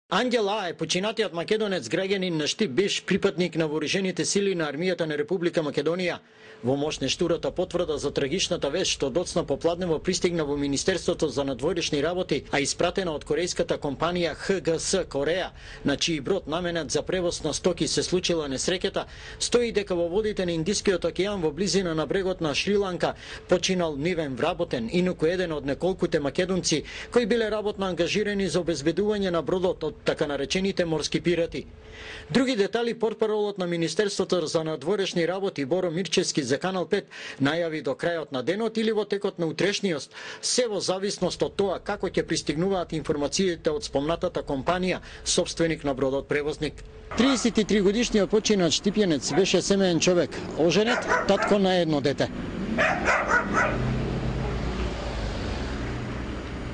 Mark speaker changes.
Speaker 1: Ангел А е починатиот македонец граѓанин на Штип Биш, припадник на вооружените сили на армијата на Република Македонија. Во моќнештурата потврда за трагичната вест што доцна попладнево пристигна во Министерството за надворешни работи, а испратена од корејската компанија ХГС Кореја, на чиј брод наменет за превоз на стоки се случила несреќата, стои дека во водите на Индискиот океан во близина на брегот на Шри-Ланка починал нивен вработен, инаку еден од неколкуте македонци кои биле работно ангажирани за обезбедување на бродот од така наречените морски пирати. Други детали портпаролот на Министерството за надворешни работи Боро Мирчевски за Канал 5 најави до крајот на денот или во текот на утрешниот, се во зависност од тоа како ќе пристигнуваат информациите од спомнатата компанија, собственик на бродот превозник. 33 годишниот починат штипјанец беше семеен човек, оженет, татко на едно дете.